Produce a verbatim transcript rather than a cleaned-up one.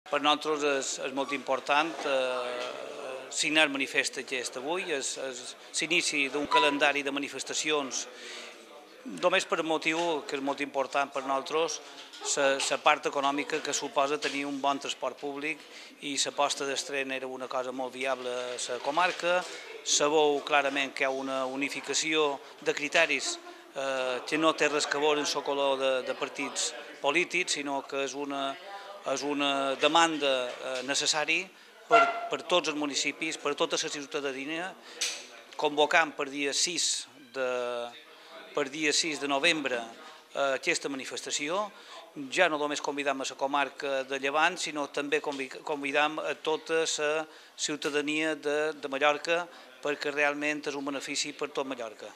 Per nosaltres és, és molt important eh, signar el manifest aquest avui, és, és l'inici d'un calendari de manifestacions, només per un motiu que és molt important per nosaltres, la part econòmica que suposa tenir un bon transport públic, i l'aposta del tren era una cosa molt viable a la comarca. Se veu clarament que hi ha una unificació de criteris eh, que no té res a veure amb el color de, de partits polítics, sinó que és una, és una demanda eh, necessària per, per tots els municipis, per tota la ciutadania, convocant per dia sis de, per dia sis de novembre eh, aquesta manifestació. Ja no només convidam a la comarca de Llevant, sinó també convidam a tota la ciutadania de, de Mallorca, perquè realment és un benefici per tot Mallorca.